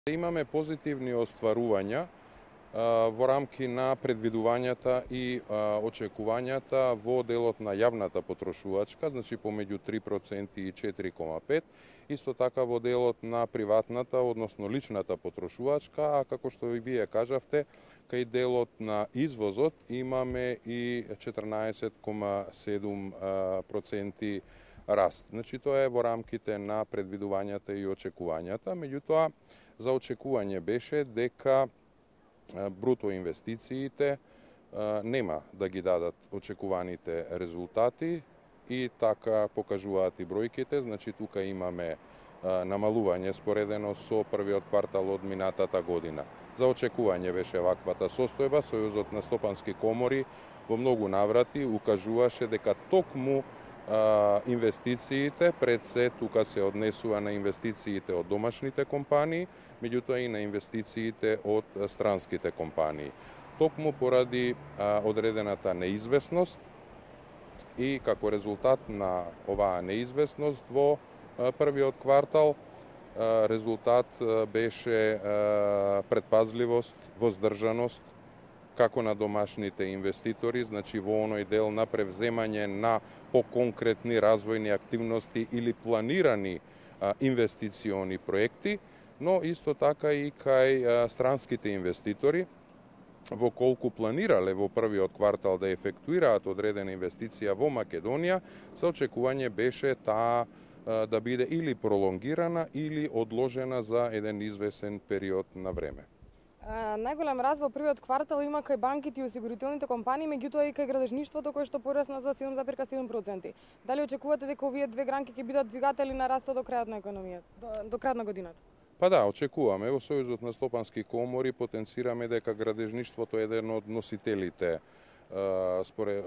Имаме позитивни остварувања во рамки на предвидувањата и очекувањата во делот на јавната потрошувачка, значи помеѓу 3% и 4,5%, исто така во делот на приватната, односно личната потрошувачка, а како што и вие кажавте, кај делот на извозот имаме и 14,7% раст. Значи тоа е во рамките на предвидувањата и очекувањата, меѓутоа за очекување беше дека бруто инвестициите нема да ги дадат очекуваните резултати и така покажуваат и бројките, значи тука имаме намалување споредено со првиот квартал од минатата година. За очекување беше ваквата состојба, Сојузот на стопански комори во многу наврати укажуваше дека токму инвестициите, пред се тука се однесува на инвестициите од домашните компании, меѓутоа и на инвестициите од странските компании. Токму поради одредената неизвестност и како резултат на оваа неизвестност во првиот квартал резултат беше предпазливост, воздржаност, како на домашните инвеститори, значи во оној дел на превземање на поконкретни развојни активности или планирани инвестициони проекти, но исто така и кај странските инвеститори, во колку планирале во првиот квартал да ефектуираат одредена инвестиција во Македонија, за очекување беше таа да биде или пролонгирана или одложена за еден извесен период на време. Најголем раст во првиот квартал има кај банките и осигурителните компании, меѓутоа и кај градежништвото кој што порасна за 7,7%. Дали очекувате дека овие две гранки ќе бидат двигатели на растот до крајот на економијата, до крајот на годината? Па да, очекуваме. Во Сојузот на стопански комори потенцираме дека градежништвото е еден од носителите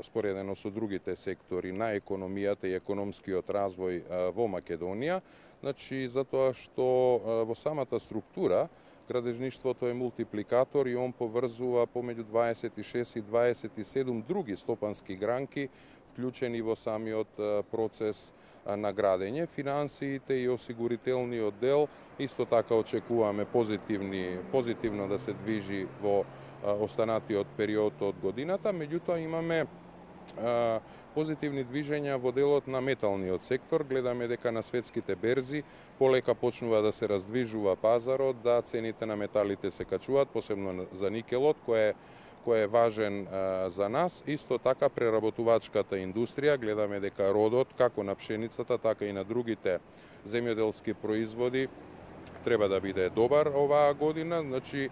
споредено со другите сектори на економијата и економскиот развој во Македонија, значи затоа што во самата структура градежништвото е мултипликатор и он поврзува помеѓу 26 и 27 други стопански гранки, вклучени во самиот процес на градење. Финансиите и осигурителниот дел исто така очекуваме позитивно да се движи во останатиот период од годината, меѓутоа имаме позитивни движења во делот на металниот сектор. Гледаме дека на светските берзи полека почнува да се раздвижува пазарот, да цените на металите се качуваат, посебно за никелот, кој е важен за нас. Исто така преработувачката индустрија, гледаме дека родот, како на пшеницата, така и на другите земјоделски производи, треба да биде добар оваа година, значи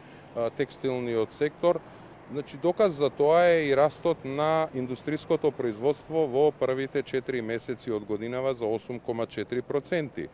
текстилниот сектор. Значи, доказ за тоа е и растот на индустриското производство во првите 4 месеци од годинава за 8,4%.